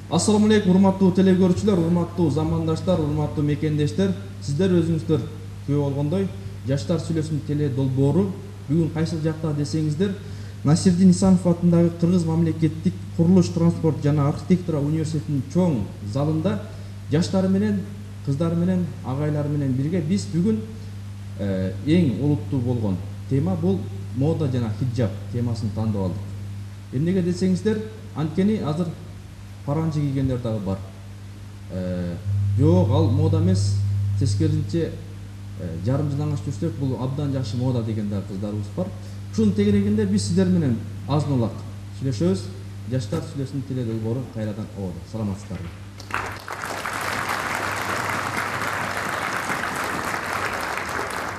Assalamu alaikum, урматтуу телекөрүүчүлөр, урматтуу замандаштар, урматтуу мекендештер. Сиздер өзүңүздөр күбө болгондой, Жаштар сүйлөсүн теле долбоору бүгүн кайсыл жакта десеңиздер, Насирдин Исанов атындагы Кыргыз мамлекеттик курулуш, транспорт жана архитектура университетинин чоң залында жаштары менен, кыздары менен, агайлары менен бирге биз бүгүн эң олуттуу болгон тема бул мода жана хиджаб темасын тандап алдык. Эмнеге десеңиздер, анткени азыр паранжы кийгендер дагы бар. Жок, ал мода эмес, тескерисинче жарым жылаңаш жүрсөк, бул абдан жакшы мода деген дагы кыздарыбыз бар. Ушунун тегерегинде биз сиздер менен азын-улак сүйлөшөбүз. Жаштар сүйлөсүн теле долбоору кайрадан ободу. Саламатсыздарбы?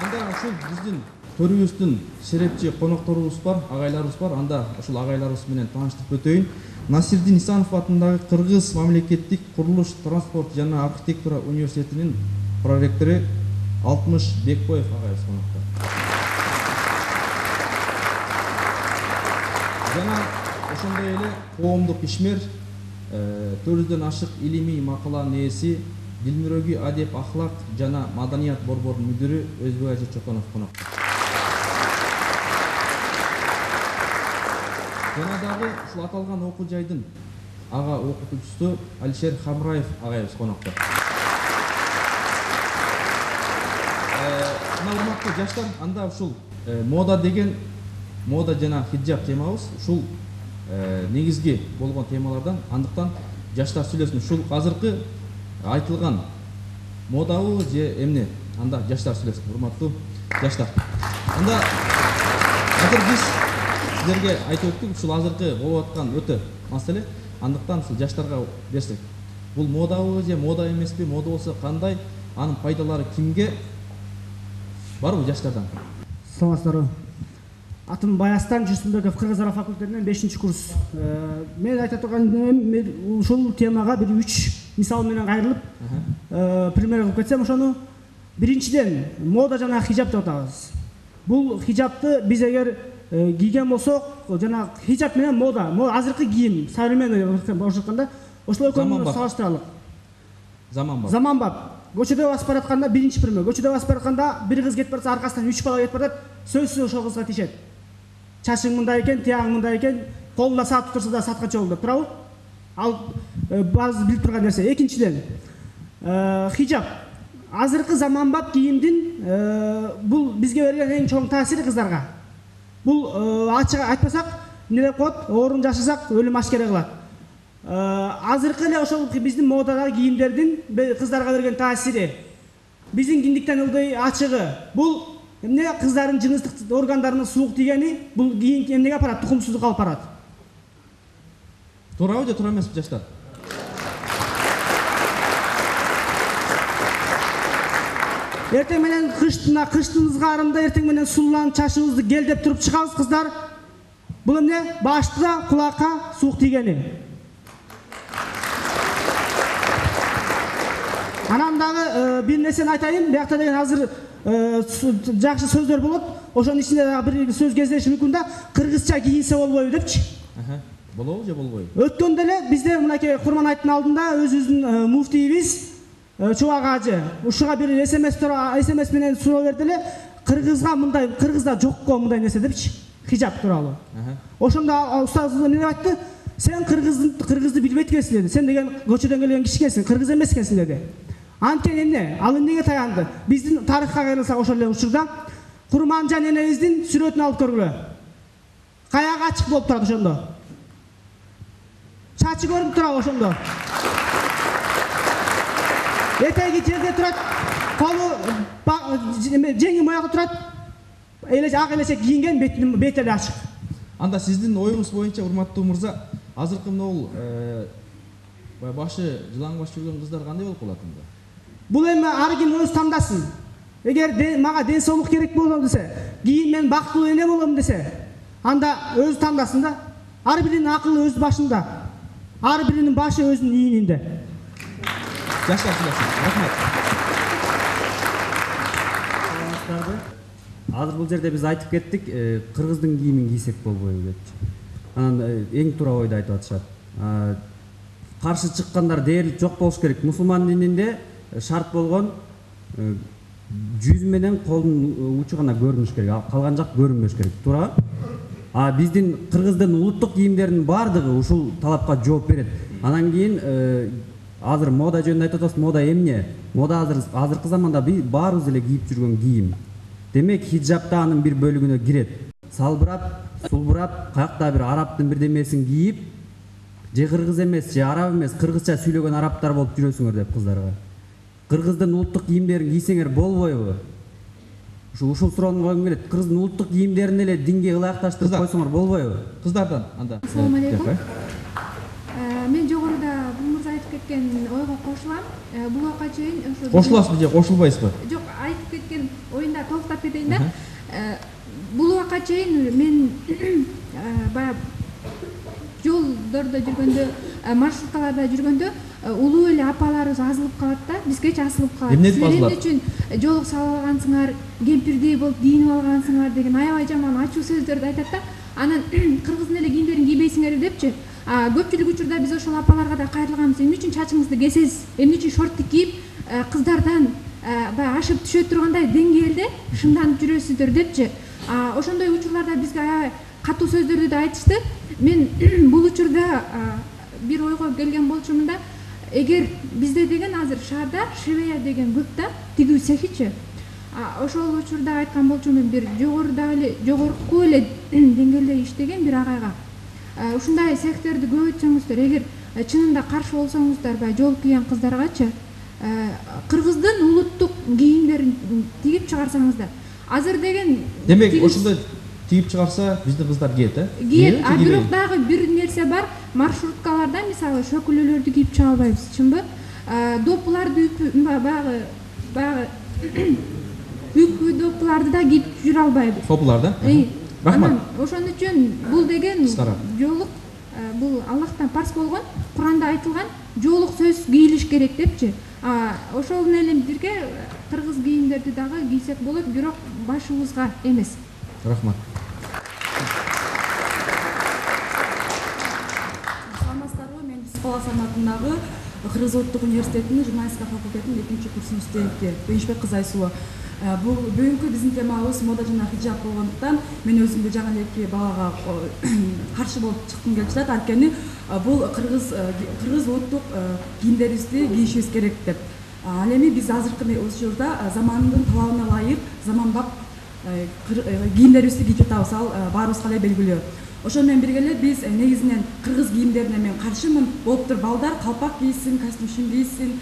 Анда ушул биздин төрүбүздүн шерепчи конокторубуз бар, агайларыбыз бар. Анда ушул агайларыбыз менен тааныштырып өтөйүн. Насирдин Исанов атындагы Кыргыз мамлекеттик курулуш, транспорт жана архитектура университетинин проректору Алтымыш Бекбоев агайыбыз конокто. Жана ошондой эле коомдук ишмер, 400дөн ашык илимий макаланын ээси, Дилмүрөгү адеп, ахлак жана маданият борборунун мүдүрү Өзбек Ажы Чоконов конокто. Жана дагы ушул аталган окуу жайдын ага окутуучусу Алишер Хамраев агайыбыз конокто. Урматтуу жаштар, анда ушул мода деген, мода жана хиджаб темабыз ушул негизги болгон темалардан. Андыктан жаштар сүйлөсүн ушул азыркы айтылган модабы же эмне? Анда жаштар сүйлөсүн, урматтуу жаштар. Анда азыр биз сиздерге айтып өттүк, ушул азыркы болуп аткан өтө маселе. Андыктан ушул жаштарга берсек, бул модабы же мода эмеспи? Мода болсо кандай? Анын пайдалары кимге? Барбы жаштардан? Саламатсыздарбы? Атым Баястан Жусунбеков, Кыргыз ара факультетинен 5-курс. Мен айта турганым ушул темага бир 3 мисал менен кайрылып, пример кылып кетсем, ошону биринчиден мода жана хиджаб деп атабыз. Бул хиджабты биз эгер кийген болсок, жана хиджаб менен мода, азыркы кийим, современный деп айтканда, ошол экөөнү салыштыралык. Заманбап. Көчөдө басып баратканда биринчи пример. Көчөдө басып баратканда бир кыз кетип барса, аркасынан 3 бала кетип барат, сөзсүз ошол кызга тиешет. Чачың мындай экен, тияң мындай экен, колунда саат турса да саатка чогул деп турабы? Ал баары билип турган нерсе. Экинчиден, хиджаб. Азыркы заманбап кийимдин бул бизге берген эң чоң таасири кыздарга. Бул ачык айтпасак, эмне деп коет? Оорун жашасак, өлүм ашкере кылат. Азыркы эле ошол биздин модадагы кийимдердин кыздарга берген таасири, биздин киндиктен ылдый ачыгы, бул эмне кыздардын жыныстык органдарына суук тийгени, бул кийин эмнеге апарат? Тукумсуздукка алып барат. Туурабы же туура эмеспи жаштар? Эртең менен кыштын ызгаарында эртең менен сулууланып чачыбызды гел деп туруп чыгабыз кыздар. Бул эмне? Башта кулакка суук тийгени. Анан дагы бир нерсени айтайын, биякта деген азыр жакшы сөздөр болот. Ошонун ичинде дагы бир сөз кездеши мүмкүн да, кыргызча кийинсе болбойбу депчи. Болобу же болбойбу? Өткөндө эле бизде мынакей Курман айттын алдында өзүбүздүн муфтийибиз Чубак ажы ушуга бир СМС менен суроо берди эле, кыргызга мындай, кыргызда жок го мындай нерсе депчи, хиджаб тууралуу. Ошондо устазыбыз эмне деп айтты? Сен кыргызды билбейт экенсиң деди. Сен деген көчөдөн келген киши экенсиң, кыргыз эмес экенсиң деди. Анткени эмне? Ал эмнеге таянды? Биздин тарыхка кайрылсак ошол эле учурда Курманжан энебиздин сүрөтүн алып көргүлө. Каяк ачык болуп турат ошондо. Чачы көрүнүп турабы ошондо? Этеги жерде турат, колу жеңи моягы турат. Ак элечек кийинген, бети эле ачык. Анда сиздин оюңуз боюнча, урматтуу мырза, азыркы могул башы жылаңбаш жүргөн кыздар кандай болуп калат анда? Бул эми ар ким өз таңдасын. Эгер мага ден соолук керек болом десе, кийин мен бактылуу эне болом десе, анда өз таңдасын да. Ар биринин акылы өз башында. Ар биринин башы өзүнүн ийининде. Жаштар сүйлөсүн. Рахмат. Азыр бул жерде биз айтып кеттик, кыргыздын кийимин кийсек болбойбу депчи. Анан эң туура ойду айтып атышат. каршы чыккандар дээрлик жок болуш керек. Мусулман дининде шарт болгон жүз менен колдун учу гана көрүнүш керек, калган жак көрүнбөш керек. Туура? А биздин кыргыздын улуттук кийимдеринин баардыгы ушул талапка жооп берет. Анан кийин азыр мода жөнүндө айтып атабыз. Мода эмне? Мода азыркы заманда баарыбыз эле кийип жүргөн кийим. Демек хиджап да анын бир бөлүгүнө кирет. Салбырап, сулбурап, каякта бир арабтын бирдемесин кийип, же кыргыз эмес, же араб эмес, кыргызча сүйлөгөн арабтар болуп жүрөсүңөр деп кыздарга. Кыргыздын улуттук кийимдерин кийсеңер болбойбу? Ушул суроону койгум келет. Кыргыздын улуттук кийимдерин эле динге ылайыкташтырып койсоңор болбойбу? Кыздардан анда. Ассалому алейкум. Мен жогоруда бул мырза айтып кеткен ойго кошулам. Бул убакка чейин ошо Кошуласызбы же кошулбайсызбы? Жок, айтып кеткен оюнда токтоп кетейин да. Бул убакка чейин мен баягы жолдордо жүргөндө, маршруткаларда жүргөндө улуу эле апаларыбыз азылып калат да, бизгечи асылып калат. Эмне азылат? Эмне үчүн жолук салып алгансыңар, кемпирдей болуп кийинип алгансыңар деген аябай жаман ачуу сөздөрдү айтат да. Анан кыргыздын эле кийимдерин кийбейсиңер депчи. Көпчүлүк учурда биз ошол апаларга да кайрылганбыз. Эмне үчүн чачыңызды кесесиз? Эмне үчүн шортты кийип, кыздардан баягы ашып түшө тургандай деңгээлде шыңданып жүрөсүздөр депчи. Ошондой учурларда бизге аябай катуу сөздөрдү да айтышты. Мен бул учурда бир ойго келген болчумун да. Эгер бизде деген азыр шаарда швея деген көп да, тигүү цехичи. Ошол учурда айткан болчумун, бир жогорку эле деңгээлде иштеген бир агайга. Ушундай цехтерди көбөйтсөңүздөр, эгер чынында каршы болсоңуздар баягы жол кийген кыздаргачы, кыргыздын улуттук кийимдерин тигип чыгарсаңыздар. Азыр деген Демек ошондой тигип чыгарса биздин кыздар кийет, кийет. Бирок дагы бир нерсе бар. Маршруткаларда мисалы шөкүлөлөрдү кийип чыга албайбыз, чынбы? Допуларды баягы үпү допуларды да кийип жүрө албайбыз. Топуларда? Рахмат. Ошон үчүн бул деген жолук, бул Аллахтан парз болгон, Куранда айтылган жолук сөз кийилиш керек депчи. Ошол менен бирге кыргыз кийимдерди дагы кийсек болот, бирок башыбызга эмес. Рахмат. Саламатсыздарбы? Мен Психолог санатындагы Кыргыз Улуттук университетинин журналистика факультетинин 2-курс студенти Кыйынчбек кызы Айсулова. Бүгүнкү биздин темабыз мода жана хиджаб болгондуктан мен өзүмдү жаган эки балага каршы болуп чыккым келип жатат. Анткени бул кыргыз улуттук кийимдерибизди кийишибиз керек деп. Ал эми биз азыркы учурда замандын талабына ылайык заманбап кийимдерибизди кийип жатабыз. Ал баарыбызга эле белгилүү. Ошол менен бирге эле биз негизинен кыргыз кийимдерине мен каршымын. Болуптур балдар калпак кийсин, костюм кийсин.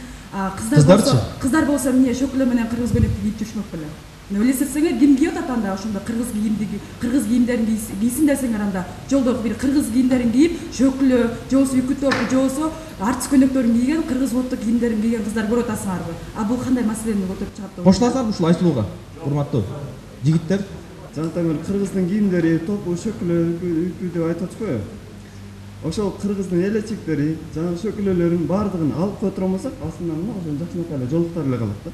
Кыздар болсо эмне шөкүлө менен кыргыз көйнөктү кийип жүрүшмөк беле. Элестетсеңер, ким кийип атат анда ошондо кыргыз кийимдерин кийсин десеңер, анда жолдо бир кыргыз кийимдерин кийип, шөкүлө, же болбосо үкү топ, же болбосо артист көйнөктөрүн кийген, кыргыз улуттук кийимдерин кийген кыздар көрүп атасыңарбы? Бул кандай маселени көтөрүп чыгат деп? Кошуласызбы ушул Айсулууга? Урматтуу жигиттер. Жантаңыр кыргыздын кийимдери топу, шөкүлө, үпү деп айтып атышпайбы? Ошол кыргыздын элечектери, жана шөкүлөлөрүн баардыгын алып кое турмасак, астынан мына ошол жакшынакай эле жолуктар эле калат да.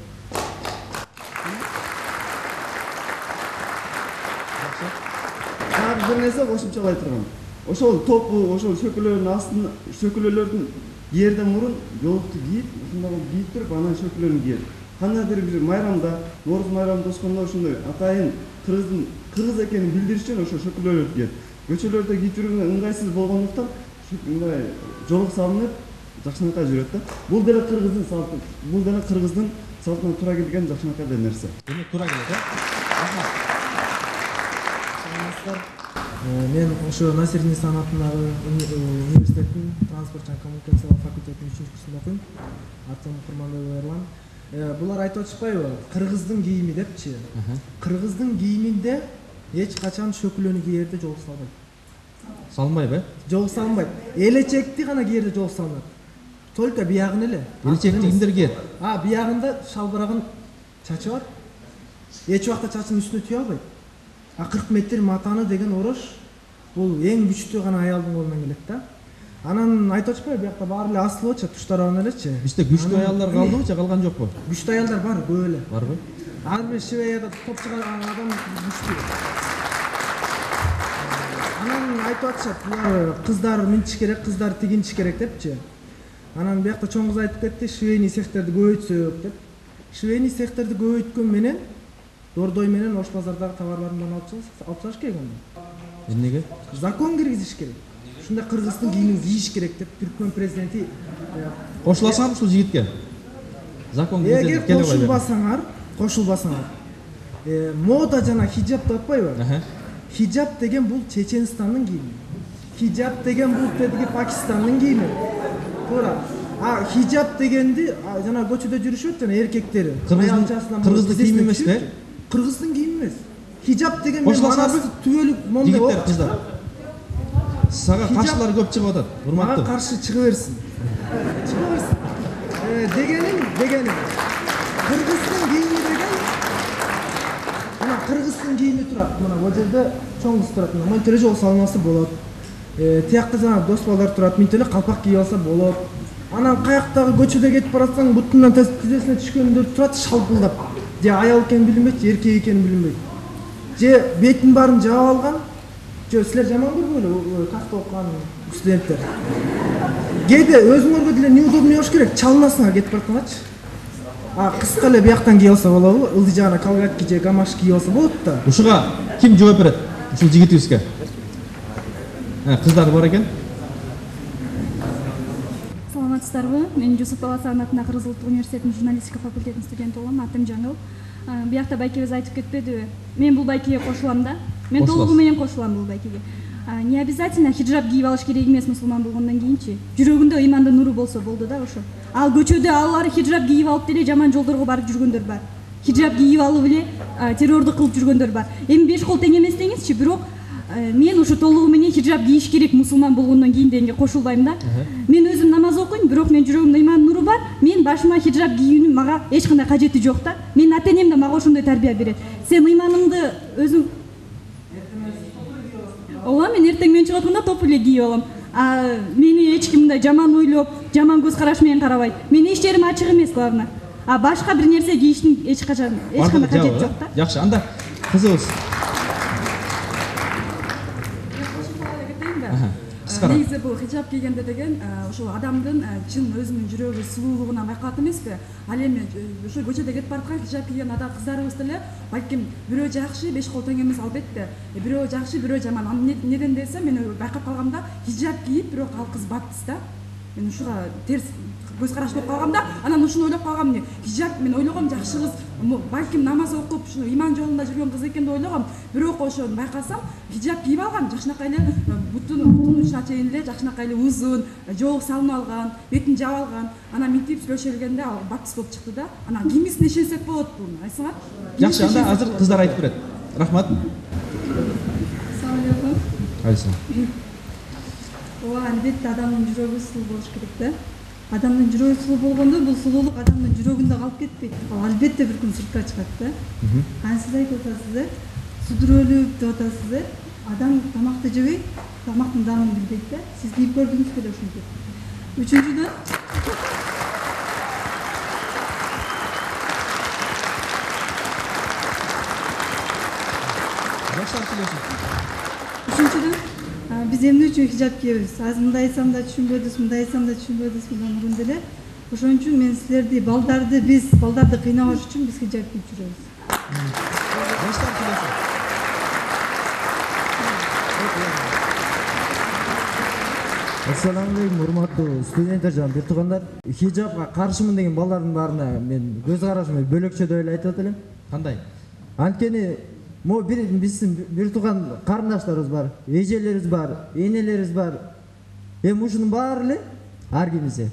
Бир нерсе кошумчалай турган. Ошол топу, ошол шөкүлөлөрдүн астын, шөкүлөлөрдүн кийерден мурун жолукту кийип, ушундай кийип туруп, анан шөкүлөлөрүн кийет. Кандайдыр бир майрамда, Нооруз майрамында оскондо ошондой атайын кыргыз экенин билдириш үчүн ошо шөкүлөлөрдү кийет. Көчөлөрдө кийип жүргөнгө ыңгайсыз болгондуктан мындай жолук салынып, жакшынакай жүрөт да. Бул деле кыргыздын салты, бул деле кыргыздын салтына туура келген жакшынакай нерсе. Демек туура келет, Мен ошо Насирдин санатындагы университеттин транспорт жана коммуникациялар факультетинин 3-курсунда окуйм. Атым Курманбек Эрлан. Булар айтып атышпайбы? Кыргыздын кийими депчи. Кыргыздын кийиминде эч качан шөкүлөнү кийерде жолук салбайт. Салынбайбы? Жолук салынбайт. Элечекти гана кийерде жолук салынат. Только биягын эле. Элечекти кимдер кийет? Биягында шалбырагын чачы бар. Эч убакта чачынын үстүнө түйө албайт. 40 метр матаны деген орош бул эң күчтүү гана аялдын колунан келет да. Анан айтып атышпайбы, биякта баары эле асылычы, туштарабын элечи. Бизде күчтүү аялдар калдыбы же калган жокпу? Күчтүү аялдар бар, көп эле. Барбы? Ар бир Швеяда топчуган адам күчтүү. Анан айтып атышат, булар кыздар минтиш керек, кыздар тигиниш керек депчи. Анан биякта чоң кыз айтып кетти, швейный цехтерди көбөйтсөк деп. Швейный цехтерди көбөйткөн менен Дордой менен Ош базардагы товарларымдан алып чыгыш керек анда. Эмнеге? Закон киргизиш керек. Ушундай кыргыздын кийимин кийиш керек деп Түркмөн президенти Кошуласаңар ушул жигитке. Закон эгер кошулбасаңар, мода жана хиджап деп атпайбы? Хиджап деген бул Чеченстандын кийими. Хиджап деген бул тетиги Пакистандын кийими. Туура. А хиджап дегенди жана көчөдө жүрүшөт жана эркектери. Кыргыздын кийими эмеспи? Кыргыздын кийими эмес. Хиджап деген манасы түбөлүк мондай. Жигиттер, кыздар. Сага каршылар көп чыгып атат. Урматтуу. Мага каршы чыга берсин. Чыга берсин. Дегеним. Кыргыздын кийими деген мына кыргыздын кийими турат. Мына бул жерде чоң кыз турат. Мына тележол салынасы болот. Тиякта жана дос балдар турат. Мынтип эле калпак кийип алса болот. Анан каяктагы көчөдө кетип баратсаң, бутунан тизесине түшкөндөр турат шалпылдап. Же аял экенин билинбейт, же эркек экенин билинбейт. Же бетин баарын жаап алган. Же силер жаман көрбөйлү, катты окуган студенттер. Кээде өзүңөргө деле неудобный болуш керек, чалынасыңар кетип баратканчы. Кыска эле бияктан кийип алса болобу? Ылдый жагына колготки же гамаш кийип алса болот да. Ушуга ким жооп берет? Ушул жигитибизге. Кыздар бар экен. Саламатсыздарбы? Мен Жусуп Баласагын атындагы Кыргыз Улуттук университетинин журналистика факультетинин студенти болом. Атым Жаңыл. Биякта байкебиз айтып кетпедиби? Мен бул байкеге кошулам да. Мен толугу менен кошулам бул байкеге. Не обязательно хиджаб кийип алыш керек эмес мусулман болгондон кийинчи. Жүрөгүндө ыймандын нуру болсо болду да ошо. Ал көчөдө алары хиджаб кийип алып деле жаман жолдорго барып жүргөндөр бар. Хиджаб кийип алып эле террорду кылып жүргөндөр бар. Эми беш кол тең эмес деңизчи, бирок мен ушу толугу менен хиджаб кийиш керек мусулман болгондон кийин дегенге кошулбайм да. Мен өзүм намаз окуйм, бирок мен жүрөгүмдө ыймандын нуру бар. Мен башыма хиджаб кийүүнүн мага эч кандай кажети жок да. Менин ата-энем да мага ошондой тарбия берет. Сен ыйманыңды өзүң Ооба, мен эртең мен чыгып атканда топ эле кийип алам. Мени эч ким мындай жаман ойлоп, жаман көз караш менен карабайт. Менин иш жерим ачык эмес главное. Башка бир нерсе кийиштин эч кандай кажети жок да. Жакшы, анда кызыбыз. Негизи бул хиджаб кийгенде деген ошол адамдын чын өзүнүн жүрөгү сулуулугунан байкалат эмеспи? Ал эми ошо көчөдө кетип бараткан хиджаб кийген кыздарыбыз деле балким бирөө жакшы, беш кол тең эмес албетте. Бирөө жакшы, бирөө жаман. Неден десе мен байкап калгамда хиджаб кийип, бирок ал кыз баптист да. Мен ушуга терс көз караш болуп калгам да, анан ушуну ойлоп калгам. Хиджаб мен ойлогом жакшы кыз, балким намаз окуп, ушу иман жолунда жүргөн кыз экен деп ойлогом. Бирок ошону байкасам, хиджаб кийип алган, жакшынакай эле бутунун учуна чейин эле жакшынакай эле узун, жоого салынып алган, бетин жаап алган. Анан мынтип сүйлөшө бергенде ал баптист болуп чыкты да. Анан кимисине ишенсек болот буну, айтсаңар? Жакшы, анда азыр кыздар айтып берет. Рахмат. Салам алейкум. Алейкум. Ооба, албетте адамдын жүрөгү сулуу болуш керек да. Адамдын жүрөгү сулуу болгондо бул сулуулук адамдын жүрөгүндө калып кетпейт. Ал албетте бир күн сыртка чыгат да. Сиз айтып атасыз, судүрөлүп деп атасыз. Адам тамакты жебейт, тамактын дагын билбейт да. Сиз кийип көрдүңүз беле ушинтип. Үчүнчүдөн биз эмне үчүн хиджаб кийебиз? Азыр мындай айтсам да түшүнбөдүңүз, мындай айтсам да түшүнбөдүңүз мындан деле. Ошон үчүн мен силерди балдарды кыйнабаш үчүн биз хиджаб кийип жүрөбүз. Ассаламу алейкум, урматтуу студенттер жана бир туугандар. Хиджабга каршымын деген балдардын баарына мен көз карашымды бөлөкчөдөй эле айтып атам. Кандай? Анткени биздин бир тууган карындаштарыбыз бар, эжелерибиз бар, энелерибиз бар. Эми ушунун баары эле ар кимисе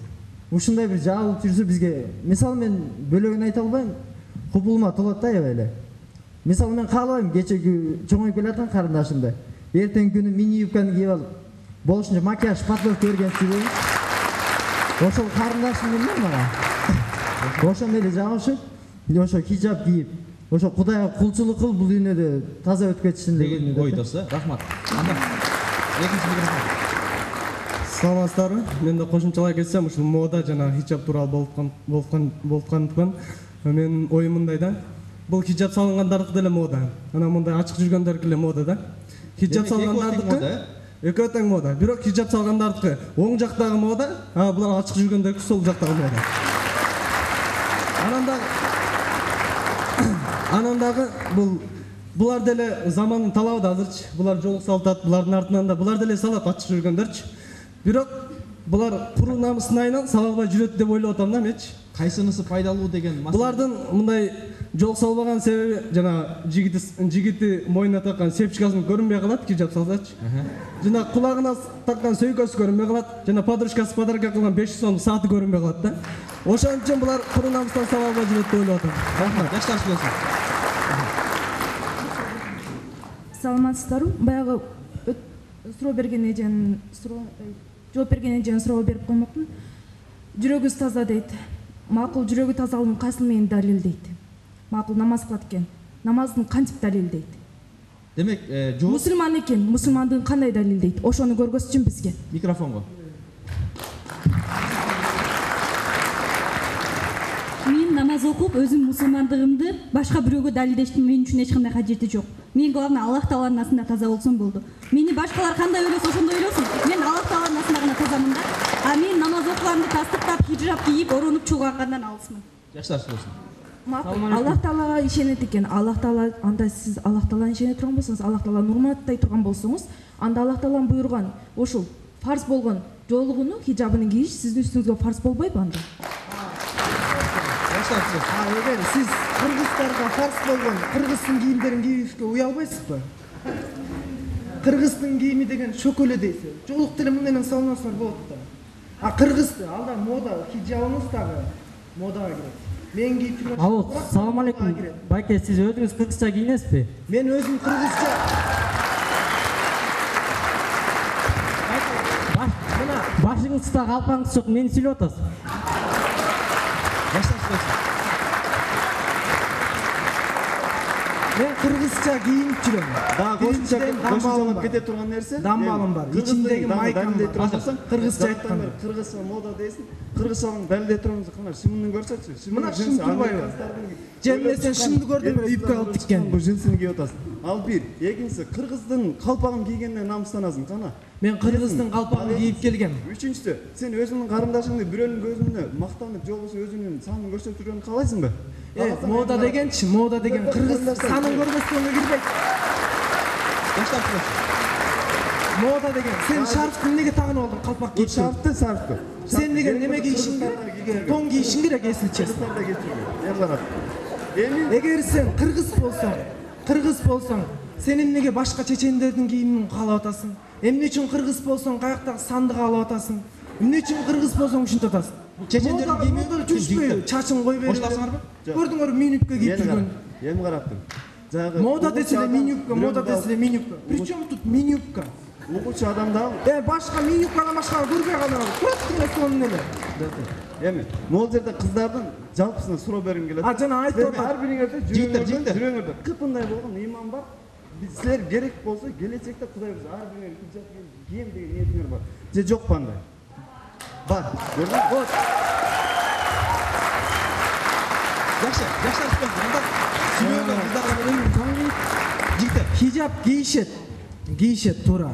ушундай бир жабылып жүрсө бизге, мисалы мен бөлөгүн айта албайм, купулума толот да аябай эле. Мисалы мен каалабайм кечеги чоңоюп келаткан карындашымды эртең күнү мини юбканы кийип алып, болушунча макияж подготовка берген себебим ошол карындашым эмне мага. Ошондой эле жабышып, ошо хиджаб кийип, ошо Кудайга кулчулук кыл, бул дүйнөдө таза өтүп кетишин деген ойдосу. Рахмат. Анда экинчи микрофон. Саламатсыздарбы? Мен да кошумчалай кетсем, ушул мода жана хиджаб тууралуу болуп менин оюм мындай да. Бул хиджаб салынгандардыкы деле мода. Анан мындай ачык жүргөндөрдүкү эле мода да. Хиджаб салгандардыкы экөө тең мода. Бирок хиджап салгандардыкы оң жактагы мода, булар ачык жүргөндөрдүкү сол жактагы мода. Анан дагы булар деле замандын талабы да азырчы. Булар жолук салтат, булардын артынан да булар деле салат ачык жүргөндөрчү. Бирок булар куру намыстын айынан сала албай жүрөт деп ойлоп атам да менчи. Кайсынысы пайдалуу деген Булардын мындай жол салбаган себеби жана жигити мойнуна таккан сепчикасын көрүнбөй калат, хиджап салсачы. Жана кулагына таккан сөйкөсү көрүнбөй калат, жана подружкасы подарка кылган 500 сомдук сааты көрүнбөй калат да. Ошон үчүн булар куру намыстан сала албай жүрөт деп ойлоп атам. Рахмат, жаштар сүйлөсүн. Саламатсыздарбы? Баягы суроо берген эженин жооп берген эженин суроо берип коймокмун. Жүрөгүбүз таза дейт. Макул жүрөгү тазалыгын кайсыл менен далилдейт? Макул намаз кылат экен. Намаздын кантип далилдейт? Демек, мусулман экен, мусулмандыгын кандай далилдейт? Ошону көргөзсүн бизге. Микрофонго. Мен намаз окуп, өзүм мусулмандыгымды башка бирөөгө далилдештин мен үчүн эч кандай кажети жок. Мен главное Аллах Тааланын астында таза болсом болду. Мени башкалар кандай ойлосо ошондой ойлосун. Мен Аллах Тааланын астында гана тазамын да. А мен намаз окуганды тастыктап, хиджап кийип, оронуп чогулгандан алысмын. Жаштар сүйлөсүн. Аллах Таалага ишенет экен. Аллах Таала, анда сиз Аллах Тааланы ишене турган болсоңуз, Аллах Тааланы урматтай турган болсоңуз, анда Аллах Таалан буйруган ошол фарз болгон жоолугуну, хиджабын кийиш сиздин үстүңүзгө фарз болбойбу анда? Эгер сиз кыргыздарга фарз болгон кыргыздын кийимдерин кийишке уя албайсызбы? Кыргыздын кийими деген шөкөлө дейсиз. Жоолук деле мындай менен салынасыңар болот да. А кыргызды алда мода, хиджабыңыз дагы модага кирет. Мен кийип жүргөн. Алло, салам алейкум. Байке, сиз өзүңүз кыргызча кийинесизби? Мен өзүм кыргызча. Башыңызда калпаңыз жок, мени сүйлөп атасыз. Жаштар сүйлөсүн. Мен кыргызча кийинип жүрөм. Дагы кошумчалап кете турган нерсе. Дамбалым бар. Ичиндеги майкам бар. Кыргызча айткан. Кыргызча мода дейсиң. Кыргызчанын далилдей турганыңызды кана шымын көрсөтчү. Мына шым турбайбы? Жемде сен шымды көрдүң эле үпкө алып тиккен. Бу жинсини кийип атасың. Ал бир. Экинчиси кыргыздын калпагын кийгенден намыстанасың кана. Мен кыргыздын калпагын кийип келгем. Үчүнчүсү, сен өзүңдүн карындашыңды бирөөнүн көзүнө мактанып, же болбосо өзүнүн санын көрсөтүп жүргөнүн каалайсыңбы? Мода дегенчи, мода деген кыргыз санын көргөзгөнгө кирбейт. Жаштар сүйлөсүн. Мода деген сен шарфты эмнеге тагынып алдың калпак кийип? Шарфты. Сен деген неме кийишиң керек? Тон кийишиң керек, эсил чест. Эгер сен кыргыз болсоң, сен эмнеге башка чечендердин кийимин каалап атасың? Эмне үчүн кыргыз болсоң, каяктагы санды каалап атасың? Эмне үчүн кыргыз болсоң ушинтип атасың? Чечендердин кийими жүрүшпөйбү? Чачын кой берип. Коштасыңарбы? Көрдүңөрбү минипке кийип жүргөн? Эми караптым. Мода десе эле минипка, мода десе эле минипка. Причем тут минипка? Угуучу адамда башка минипкадан башканы көрбөй калдым. Туrat эле сонун эле. Эми, могул жерде кыздардын жалпысына суроо бергим келет. Жана айтып атат. Ар бириңерде жүрөгүңөрдө кыпындай болгон ыйман бар. Силер керек болсо келечекте Кудай биз ар бириңер хиджап кийем деген ниетиңер бар. Же жокпу андай? Бар. Көрдүңбү? Жакшы, жаштар сүйлөсүн. Анда сүйлөгөн кыздарга берейин. Жигиттер, хиджап кийишет туура.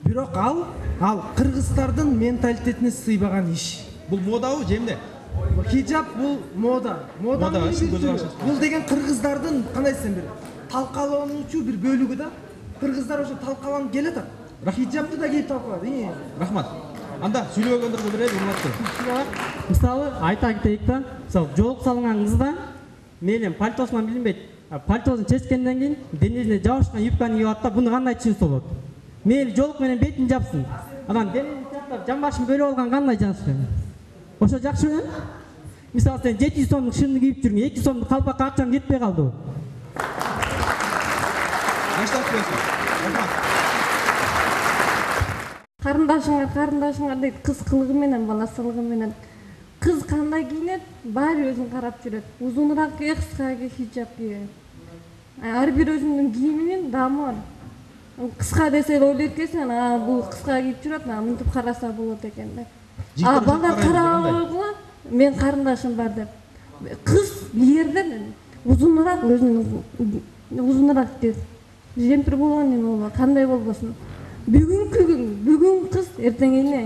Бирок ал кыргыздардын менталитетине сыйбаган иш. Бул модабы же эмне? Хиджап бул мода. Бул деген кыргыздардын кандай десем бир талкалануучу бир бөлүгү да. Кыргыздар ошо талкаланып келатат. Хиджапты да кийип талкалат. Рахмат. Анда сүйлөгөндөргө берели, урматтуу. Мисалы айта кетейик да, мисалы жоолук салынган кызда мейлен пальтосунан билинбейт. Пальтосун чечкенден кийин денесине жабышкан юбканы кийип алат да, буну кандай түшүнүп болот? Мейли жоолук менен бетин жапсын. Анан денесин чаптап жамбашын бөлүп алган кандай жакшы? Ошо жакшыбы? Мисалы сен 700 сомдук шымды кийип жүрүң, 200 сомдук калпакка акчаң жетпей калды. Жаштар сүйлөсүн. Рахмат. Карындашыңар дейт, кыз кылыгы менен, баласылыгы менен. Кыз кандай кийинет, баары өзүн карап жүрөт. Узунураак кийет, кыска хиджап кийет. Ар бир өзүнүн кийиминин даамы бар. Кыска десе ойлойт экенсиң, бул кыска кийип жүрөт, мынтип караса болот экен деп. Балдар карабай койгула, мен карындашым бар деп. Кыз кийерден узунураак, өзүнүн узунураак дейт. Жемпир болгон эме болот, кандай болбосун. бүгүнкү күн бүгүн кыз эртең эне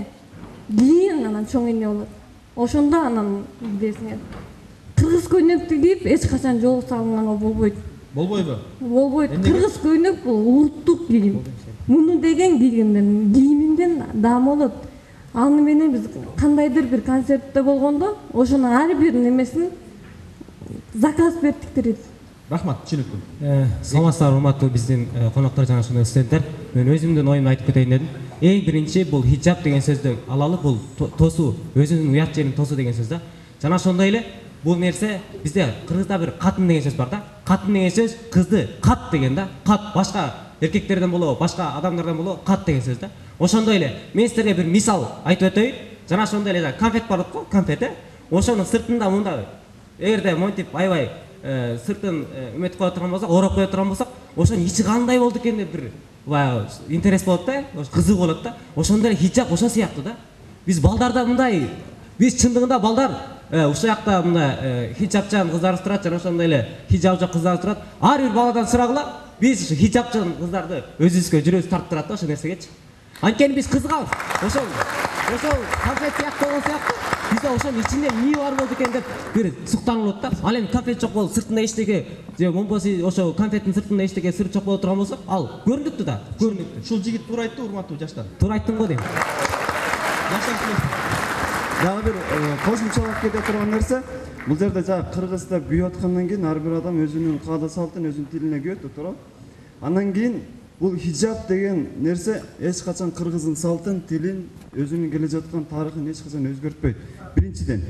кийин анан чоң эне болот. Ошондо анан билесиңер кыргыз көйнөктү кийип эч качан жол салынганга болбойт. Болбойбу? Болбойт. Кыргыз көйнөк бул улуттук кийим. Муну деген кийиминден даам болот. Аны менен биз кандайдыр бир концертте болгондо ошонун ар бир немесин заказ бердиктирет. Рахмат, түшүнүктүү. Саламатсыздар, урматтуу биздин коноктор жана ошондой студенттер. Мен өзүмдүн оюмду айтып кетейин дедим. Эң биринчи бул хиджаб деген сөздү алалы, бул тосуу, өзүнүн уят жерин тосуу деген сөз да. Жана ошондой эле бул нерсе бизде кыргызда бир катын деген сөз бар да. Катын деген сөз кызды кат деген да. Кат башка эркектерден болобу, башка адамдардан болобу, кат деген сөз да. Ошондой эле мен силерге бир мисал айтып өтөйүн. Жана ошондой эле конфет бар го, конфет. Ошонун сыртында мында эгерде монтип аябай сыртын үмөт кое турган болсок, ороп кое турган болсок, ошонун ичи кандай болду экен деп бир баягы интерес болот да, кызык болот да. Ошондой эле хиджаб ошол сыяктуу да. Биз балдарда мындай, биз чындыгында балдар ушул жакта мына хиджабчан кыздарыбыз турат, жана ошондой эле хиджабы жок кыздарыбыз турат. Ар бир баладан сурагыла, биз хиджабчан кыздарды өзүбүзгө жүрөбүз тартып турат да ошол нерсегечи. Анткени биз кызыгабыз. Ошол конфет сыяктуу болгон сыяктуу бизде ошонун ичинде эмне бар болду экен деп бир суктанылат да. Ал эми конфет жок болуп сыртында эчтеке же болбосо ошо конфеттин сыртында эчтеке сыр жок боло турган болсо, ал көрүнүктүү да, көрүнүктүү. Ушул жигит туура айтты, урматтуу жаштар. Туура айттым го дейм. Дагы бир кошумчалап кете турган нерсе, бул жерде жана кыргызда күйүп аткандан кийин ар бир адам өзүнүн каада салтын өзүнүн тилине күйөт, туура. Андан кийин бул хиджаб деген нерсе эч качан кыргыздын салтын, тилин, өзүнүн келе жаткан тарыхын эч качан өзгөртпөйт. Биринчиден.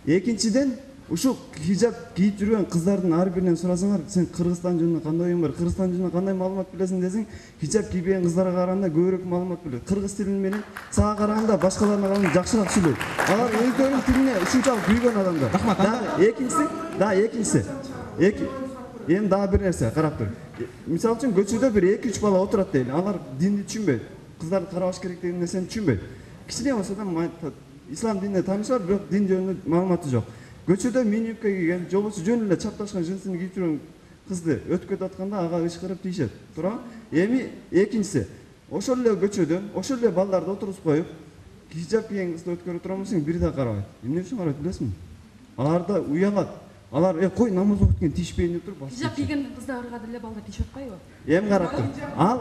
Экинчиден, ушул хиджаб кийип жүргөн кыздардын ар биринен сурасаңар, сен Кыргызстан жөнүндө кандай оюң бар, Кыргызстан жөнүндө кандай маалымат билесиң десең, хиджаб кийбеген кыздарга караганда көбүрөөк маалымат билет. Кыргыз тилин менен сага караганда башкаларына караганда жакшыраак сүйлөйт. Алар өздөрүнүн тилине ушунчалык күйгөн адамдар. Рахмат. Экинчиси. Эми дагы бир нерсе карап тур. Мисалы үчүн көчөдө бир 2-3 бала отурат дейли. Алар динди түшүнбөйт. Кыздарды карабаш керек деген нерсени түшүнбөйт. Кичине болсо да ислам динине таанышы бар, бирок дин жөнүндө маалыматы жок. Көчөдө мини-юбка кийген, же болбосо жөн эле чапташкан жинсин кийип жүргөн кызды өтүп кетип атканда ага ышкырып тийишет. Туура? Эми экинчиси, ошол эле көчөдөн, ошол эле балдарды отургузуп коюп, хиджаб кийген кызды өткөрүп турган болсоң, бири да карабайт. Эмне үчүн карабайт билесиңби? Алар да уялат. Алар кой намаз окуп кеткен тийишпейин деп туруп. Хиджаб кийген кыздарга деле балдар тийишип атпайбы? Эми карап тур. Ал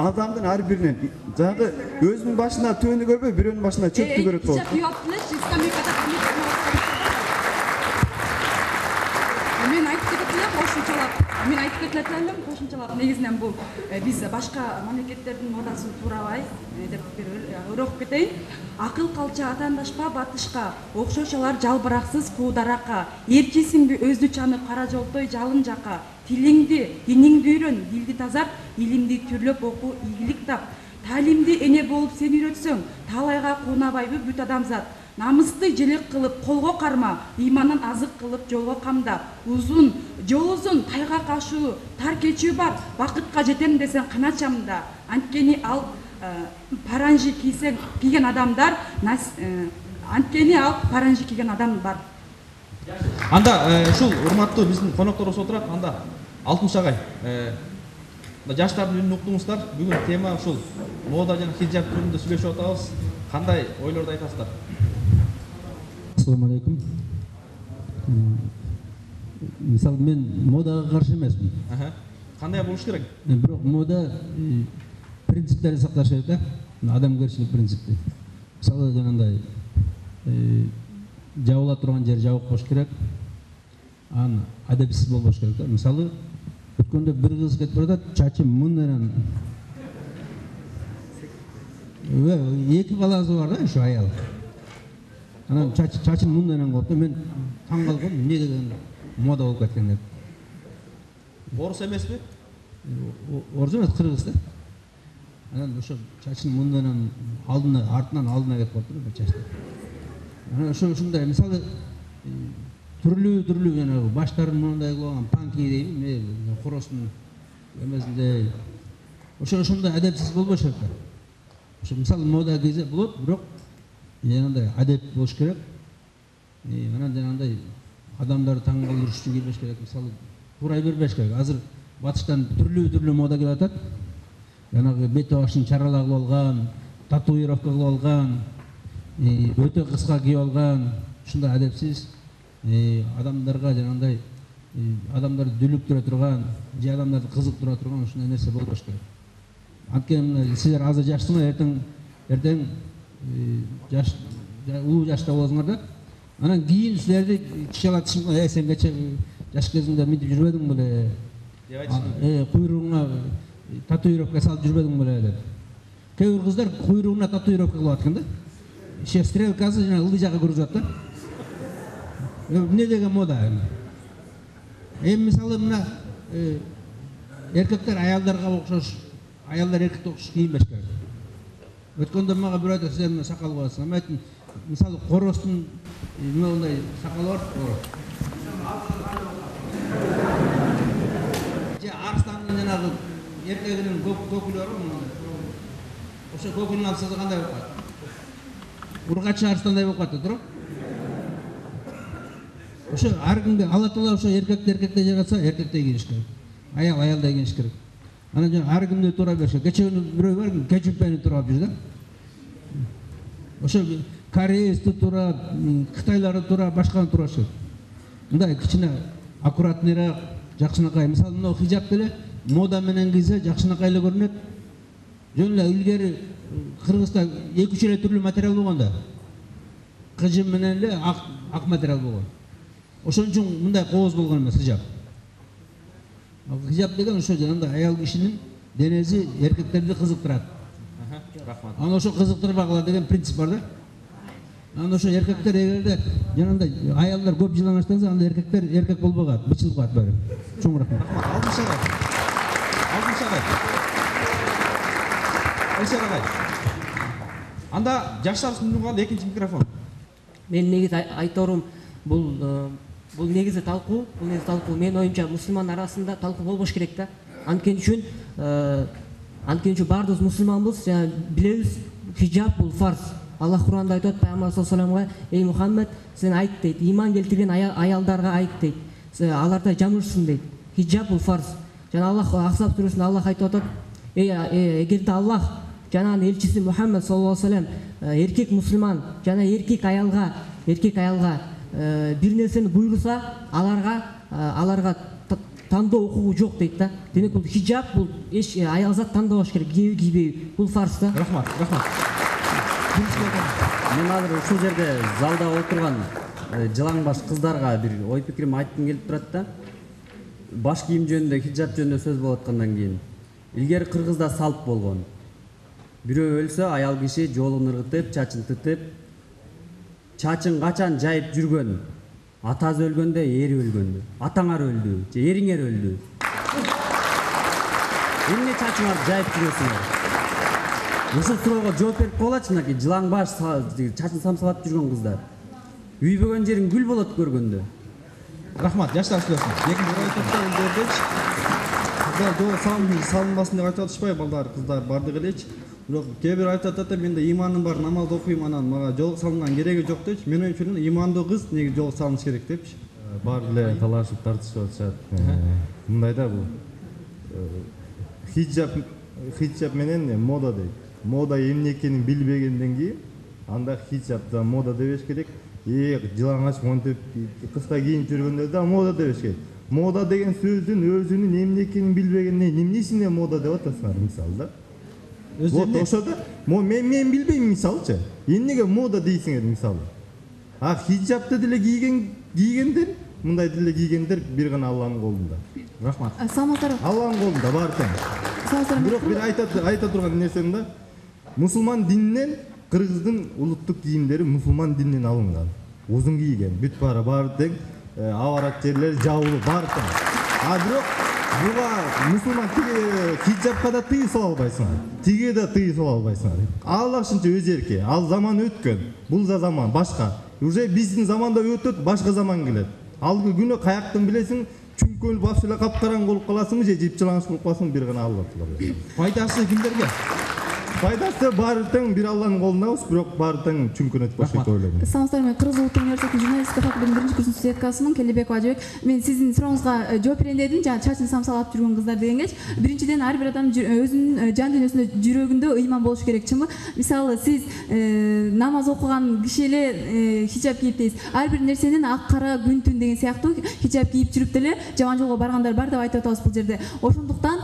адамдын ар биринен жанагы өзүнүн башына төөнү көрбөй, бирөөнүн башына чөптү көрөт болот. Хиджаб кийип алыптылычы, скамейкада мен айтып кетет элем кошумчалап. Негизинен бул биз башка мамлекеттердин модасын туурабай деп бир өр окуп кетейин. Акыл калча атаандашпа батышка, окшошолор жалбыраксыз куударака, эрчисиңби өзү чанып кара жолтой жалын жака, тилиңди, диниңди үйрөн, дилди тазарт, илимди түрлөп оку, ийгилик тап, таалимди эне болуп сен үйрөтсөң, таалайга куунабайбы бүт адамзат. Намысты желек кылып колго карма, ыйманын азык кылып жолго камда, жол узун, тайга кашуу, тар кечүү бар, бакытка жетем десең каначамда. Анткени ал паранжи кийген адамдар, бар. Анда ушул урматтуу биздин конокторубуз отурат. Анда Алтымыш агай, жаштардын үнүн уктуңуздар. Бүгүн тема ушул мода жана хиджаб жөнүндө сүйлөшүп атабыз. Кандай ойлорду айтасыздар? Ассаламу алейкум. Мисалы мен модага каршы эмесмин. Кандай болуш керек? Бирок мода принциптерди сакташ керек да. Адамгерчилик принципти. Мисалы жанагындай жабыла турган жер жабык болуш керек. Аны адепсиз болбош керек да. Мисалы өткөндө бир кыз кетип баратат, чачы мын менен эки баласы бар да, ушу аял. Анан чачын мын менен коюп да, мен таң калгам, эмне деген мода болуп кеткен деп. Орус эмеспи? Орус эмес, кыргыз да. Анан ошо чачын мын менен артынан алдына кетип калыптыр бир чачты. Анан ушундай мисалы түрлүү жанагы баштарын мындай кылган панки дейби, хоростун эмесинде ошондой адепсиз болбош керек да. Ошо мисалы мода кийсе болот, бирок жанагындай адеп болуш керек. Анан жанагындай адамдарды таң калтырыш үчүн кийбеш керек. Мисалы турай бербеш керек. Азыр батыштан түрлүү мода келип атат. жанагы бет башын чарала кылып алган, татуировка кылып алган, өтө кыска кийип алган, ушундай адепсиз адамдарга жанагындай адамдарды дүлүктүрө турган, же адамдарды кызыктыра турган ушундай нерсе болбош керек. Анткени силер азыр жаштыңар, эртең жаш улуу жашта болосуңар да. Анан кийин силерди чала тишиңер, сен кече жаш кезиңде мынтип жүрбөдүң беле? Куйругуңа татуировка салып жүрбөдүң беле деп. Кээ бир кыздар куйругуна татуировка кылып аткан да. Иши стрелкасы жана ылдый жакка көрүп атат да. Эмне деген мода? Мисалы мына эркектер аялдарга окшош, аялдар эркекке окшош кийинбеш керек. Өткөндө мага бир айтат, сен сакал коесуң. Мен айттым, мисалы коростун мындай сакалы бар. Же арстандын жанагы эркегинин көкүлү бар мындай. Ошо көкүлүн алса кандай болуп калат? Ургачы арстандай болуп калат, туурабы? Ошо ар кимге Алла Таала ошо эркекте жаратса, эркекте кийиш керек. Аял аялда кийиш керек. Анан жана ар кимди туура бериш керек. Кече күнү бирөө бар, кечүрпени туурап жүр да. Ошо кореецти туура, кытайларды туура, башканы туура керек. Мындай кичине аккуратныйраак, жакшынакай. Мисалы, мына хижап деле мода менен кийсе жакшынакай эле көрүнөт. Жөн эле илгери Кыргызда 2-3 эле түрлүү материал болгон да. Кыжым менен эле ак материал болгон. Ошон үчүн мындай кооз болгон эмес хижап. Хижап деген ошо жанагындай аял кишинин денеси эркектерди кызыктырат. Рахмат. Аны ошо кызыктырбагыла деген принцип бар да. Анан ошо эркектер эгерде жанагындай аялдар көп жылан аштанса, анда эркектер эркек болбой калат, бычылып калат баары. Чоң рахмат. Альшар анда жаштар сунуган экинчи микрофон. Мен негизи айторум, бул негизи талкуу, менин оюмча мусулман арасында талкуу болбош керек да. Анткени үчүн баардыгыбыз мусулманбыз, билебиз, хижаб бул фарз. Аллах Кур'анда айтат, Пайгамбар саллаллаху алейхи ва салламга, ey Мухаммед, сен айт дейт, иман келтирген аялдарга айт дейт, аларда жамырсын дейт. Хижаб бул фарз. Жана Аллах Ахзаб сүрөсүндө Аллах айтып атат, эгерде Аллах жанагы элчиси Мухаммед саллаллаху алейхи ва саллям эркек мусулман жана эркек аялга бир нерсени буйруса, аларга тандоо укугу жок дейт да. Демек бул хижаб, бул аял зат тандабаш керек, кийеби кийбеби, бул фарз да. Рахмат. Мен азыр ушул жерде залда отурган жылаңбаш кыздарга бир ой пикирим айткым келип турат да. Баш кийим жөнүндө, хижаб жөнүндө сөз болуп аткандан кийин, илгери Кыргызда салт болгон. Бирөө өлсө, аял киши жолун ыргытып, чачын тытып, чачын качан жайып жүргөн, атасы өлгөндө, ери өлгөндө, атаңар өлдү, же эриңер өлдү. Эмне чачыңарды жайып жүрөсүңөр? Ушул суроого жооп берип койгулачы, мынакей жылаң баш чачын самсалап жүргөн кыздар. Үйбөгөн жериң гүл болот көргөндө. Рахмат, жаштар сүйлөсүн. Экинчи айтатта элдердечи кыздар жол салынбасын деп айтып атышпайбы, балдар, кыздар бардыгы элечи. Бирок кээ бир айтып атат, менде иманым бар, намаз окуйм, анан мага жол салынган кереги жок депчи. Мен оюмча имандуу кыз неге жол салыныш керек депчи. Баары эле талашып тартышып атышат. Мындай да бул хиджаб менен мода дейт. Мода эмне экенин билбегенден кийин анда хиджаб да мода дебеш керек. Жылаңач монтип кыска кийинип жүргөндө да мода дебеш керек. Мода деген сөздүн өзүнүн эмне экенин билбегенден эмнесине мода деп атасыңар, мисалы да. Вот ошо да мен билбейм, мисалычы. Эмнеге мода дейсиңер, мисалы. Хиджабты деле кийгендер, мындай деле кийгендер бир гана Алланын колунда. Рахмат. Алланын колунда баары тең. Бирок бир айта турган нерсем да, мусулман дининен Кыргыздын улуттук кийимдери мусулман дининен алынган. Узун кийген, бүт баары тең, аварат жерлери жабылып баары тең. Бирок буга мусулман хиджабка да тыюу сала албайсыңар. Тиге да тыюу сала албайсыңар. Аллашынча өз эрки. Ал заман өткөн. Бул да заман башка. Уже биздин заманда өтөт, башка заман келет. Алгы күнү каяктан билесиң, чүңкөл баш эле капкараң болуп каласыңбы же жып жылаңыш болуп каласың, бир гана Алла билет. Пайдасы кимдерге? пайдасы баары тең бир Алланын колундабыз, бирок баары тең чүмкүнөт болуш керек деп ойлойм. Саламатсыздарбы, мен Кыргыз Улуттук университетинин журналистика факультетинин 1-курс студенткасымын, Келебекова Ажыбек. Мен сиздин сурооңузга жооп берейин дедим, жана чачын самсалап жүргөн кыздар дегенге. Биринчиден ар бир адам өзүнүн жан дүйнөсүндө, жүрөгүндө ыйман болуш керек, чынбы? Мисалы, сиз намаз окуган киши эле хиджаб кийип дейсиз. Ар бир нерсенин ак кара күн түн деген сыяктуу хиджаб кийип жүрүп деле жаман жолго баргандар бар деп айтып атабыз бул жерде. Ошондуктан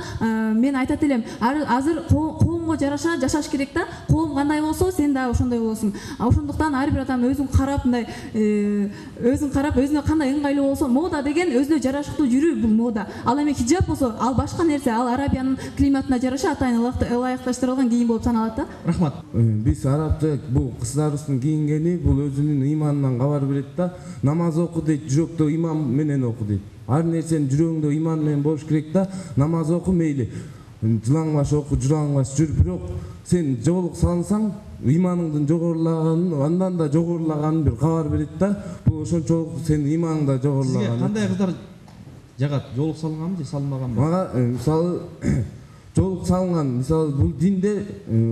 мен айтат элем, азыр коомго жараша жашаш керек да. Коом кандай болсо, сен да ошондой болосуң. Ошондуктан ар бир адам өзүн карап, мындай өзүн карап, өзүнө кандай ыңгайлуу болсо, мода деген өзүнө жарашыктуу жүрүү, бул мода. Ал эми хиджаб болсо, ал башка нерсе, ал Арабиянын климатына жараша атайын ылайыкташтырылган кийим болуп саналат да. Рахмат. Биз арабча бул кыздарыбыздын кийингени бул өзүнүн ыйманынан кабар берет да. Намаз оку дейт, жүрөктө ыйман менен оку дейт. Ар нерсенин жүрөгүндө ыйман менен болуш керек да. Намаз оку мейли. Жылаңбаш оку, жылаңбаш жүр, бирок сен жоолук салсаң, ыйманыңдын жогорулаганын, андан да жогорулаганын бир кабар берет да. Бул ошончолук сенин ыйманың да жогорулаган. Сизге кандай кыздар жагат? Жоолук салынганбы же салынбаганбы? Мага мисалы жоолук салынган, мисалы бул динде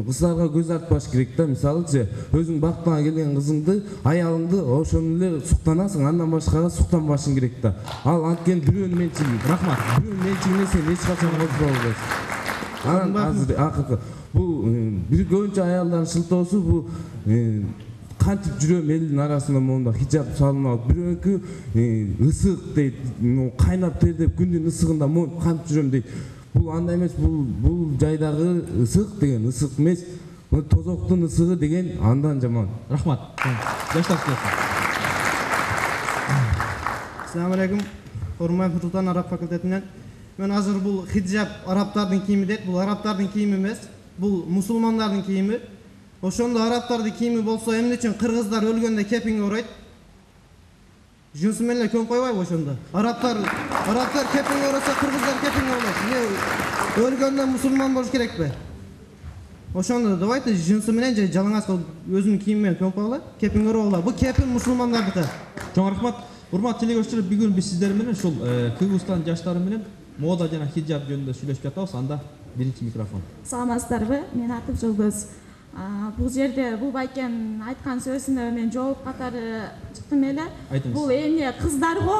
кыздарга көз артпаш керек да. Мисалычы өзүң бактыңа келген кызыңды, аялыңды ошону эле суктанасың, андан башкага суктанбашың керек да. Ал анткени бирөөнүн менчиги. Рахмат. Бирөөнүн менчигине сен эч качан козбой албайсың. Анан азыр акыркы бул бир көбүнчө аялдардын шылтоосу бул кантип жүрөм элдин арасында моунда хиджаб салынып, бирөөнүкү ысык дейт, кайнап тердеп күндүн ысыгында моунуп кантип жүрөм дейт. Бул андай эмес, бул жайдагы ысык деген ысык эмес, тозоктун ысыгы деген андан жаман. Рахмат. Жаштар Assalamu alaikum. Урмай Фуртан араб факультетинен. Мен азыр бул хиджаб арабтардын кийими дейт. Бул арабтардын кийими эмес, бул мусулмандардын кийими. Ошондо арабтардын кийими болсо, эмне үчүн кыргыздар өлгөндө кепиңге оройт? Жунсу менен эле көң койбойбу ошондо? Арабтар кепиңге оросо, кыргыздар кепиңге оройт. Өлгөндө мусулман болуш керекпи? Ошондо давайте жунсу менен же жалаңаш өзүнүн кийими менен көң койгула, кепиңге орогула. Бул кепин мусулмандардыкы. Чоң рахмат. Урматтуу телегөрүүчүлөр, бүгүн биз сиздер менен ушул Кыргызстан жаштары менен мода жана хиджаб жөнүндө сүйлөшүп жатабыз. Анда биринчи микрофон. Саламатсыздарбы? Мен атым Жолбөз. Бул жерде бул байкен айткан сөзүнө мен жооп катары чыктым эле. Бул эмне кыздарго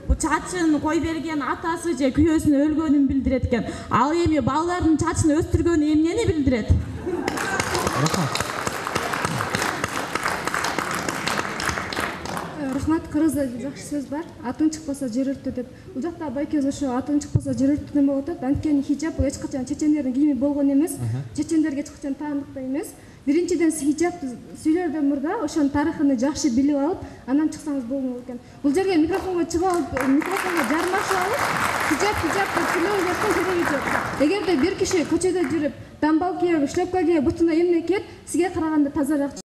бул чачын кой берген атасы же күйөөсүнүн өлгөнүн билдирет экен. Ал эми балдардын чачын өстүргөнү эмнени билдирет? Рахмат. Рахмат, кыргызда жакшы сөз бар. Атың чыкпаса жер өрттө деп. Бул жакта байкебиз ошо атың чыкпаса жер өрттө деп болуп атат. Анткени хиджаб бул эч качан чечендердин кийими болгон эмес. Чечендерге эч качан таандыктуу эмес. Биринчиден хиджаб сүйлөрдөн мурда ошонун тарыхын жакшы билип алып, анан чыксаңыз болмок экен. Бул жерге микрофонго чыгып алып, микрофонго жармашып алып, хиджаб деп сүйлөөгө кереги жок. Эгерде бир киши көчөдө жүрүп, дамбал кийип, шлепка кийип, бутуна эмне кийип, сизге караганда тазараак